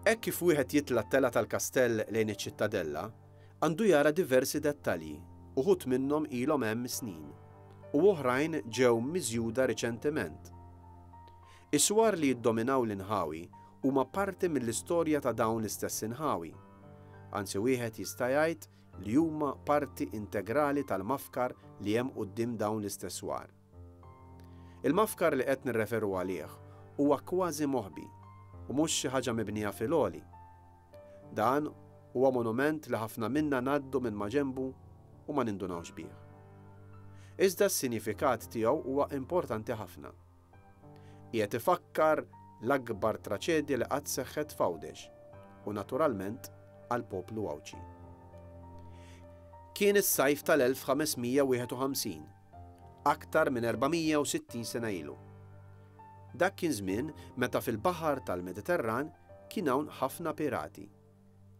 Hekk kif wieħed jitla' t-telgħa tal-kastell lejn iċ-Ċittadella, għandu jara diversi dettalji, uħud minnhom ilhom hemm snin, u oħrajn ġew miżjuda riċentement. Is-swar li jiddominaw l-inħawi huma parti mill-istorja ta' dawn l-istess inħawi. Anzi wieħed jista' jgħid li huma parti integrali tal-mafkar li hemm quddiem dawn l-istess swar. Il-mafkar li qed nirreferu għalih huwa kważi moħbi u mhux xi ħaġa mibnija fil-għoli. Dan huwa monument li ħafna minna ngħaddu minn maġenbu u ma nindunawx bih. Iżda s-sinjifikat tiegħu huwa importanti ħafna. Qiegħed ifakkar l-akbar traċedja li qatt seħħet f'Għawdex u naturalment għall-poplu Għawdxi. Kien is-sajf tal-1551, aktar minn 460 sena ilu. Dak kien żmien meta fil-baħar tal-Mediterran kien hawn ħafna pirati.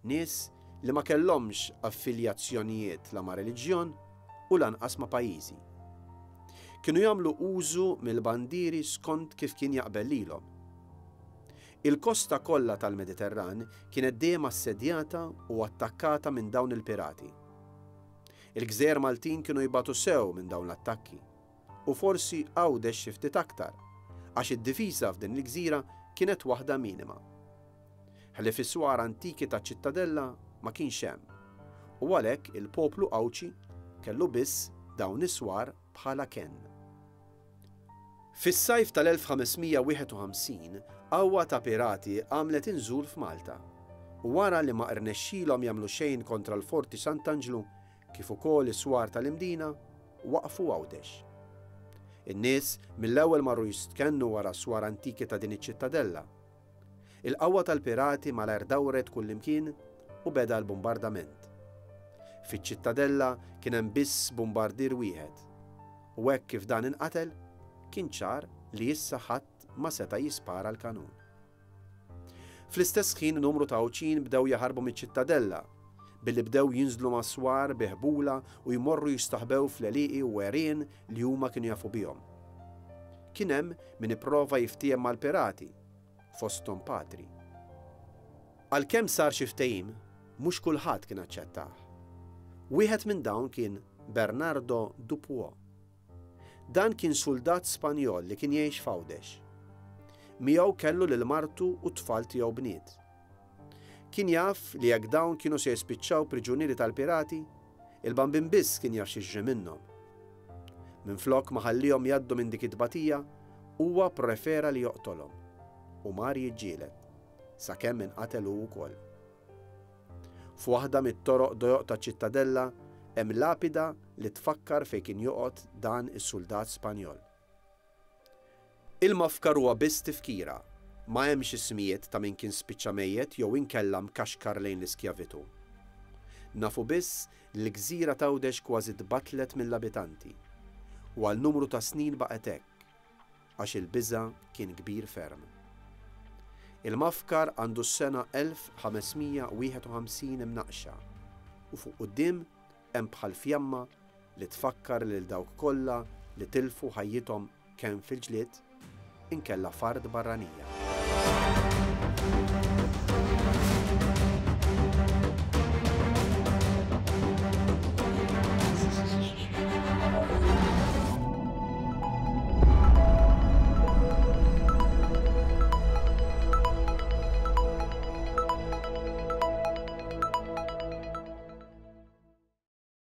Nies li ma kellhomx affiljazzjonijiet la ma' reliġjon u lanqas ma' pajjiżi. Kienu jagħmlu użu mill-bandieri skont kif kien jaqbel lilhom. Il-kosta kollha tal-Mediterran kienet dejjem assedjata u attakkata minn dawn il-pirati. Il-gżejjer Maltin kienu jbatu sew minn dawn l-attakki. U forsi Għawdex xi ftit aktar, għax id-difiża f'din il-gżira kienet waħda minima. Ħlief is-swar antiki taċ-Ċittadella ma kienx hemm, u għalhekk il-poplu Għawdxi kellu biss dawn is-swar bħala kenn. Fis-sajf tal-1551, qawwa ta' pirati għamlet inżul f'Malta, u wara li ma rnexxilhom jagħmlu xejn kontra l-Forti Sant'Anġlu kif ukoll is-swar tal-Imdina, waqfu Għawdex. In-nies mill-ewwel marru jistkennu wara s-swar antiki ta' din iċ-ċittadella. Il-qawwa tal-pirati malajr dawret kullimkien u beda l-bumbardament. Fiċ-ċittadella kien hemm biss bumbardier wieħed u hekk kif dan inqatel, kien ċar li issa ħadd ma seta' jispara l-kanun. Fl-istess ħin numru ta' Għawdxin bdew jaħarbu miċ-ċittadella, billi bdew jinżlu mas-swar bi ħbula u jmorru jistaħbew fl-għelieqi u għerien li huma kienu jafu bihom. Kien hemm min ipprova jiftiehem mal-pirati, fosthom patri. Għalkemm sar xi ftehim, mhux kulħadd kien aċċettah. Wieħed minn dawn kien Bernardo Dupuo. Dan kien suldat Spanjol li kien jgħix f'Għawdex. Miegħu kellu lil martu u t-tfal tiegħu bniet. Kien jaf li jekk dawn kienu se jispiċċaw priġunieri tal-pirati, il-Bambin biss kien jaf x'jiġri minnhom. Minflok ma ħalliehom jgħaddu minn dik it-tbatija, huwa pprefera li joqtolhom u mar jiġġieled, sakemm inqatel hu wkoll. F'waħda mit-toroq dojoq taċ-Ċittadella hemm lapida li tfakkar fejn kien joqgħod dan is-suldat Spanjol. Il-mafkar huwa biss tifkira, ma hemmx ismijiet ta' min kien spiċċa mejjet jew inkella mkaxkar lejn l-iskjavitù. Nafu biss li l-gżira t'Għawdex kważi tbattlet mill-abitanti u għal numru ta' snin baqgħet hekk. għax il-biża' kien kbir ferm. Il-mafkar għandu s-sena 1551 imnaqqxa u fuq quddiem hemm bħal fjamma li tfakkar lil dawk kollha li tilfu ħajjithom kemm fil-ġlied inkella f'art barranija.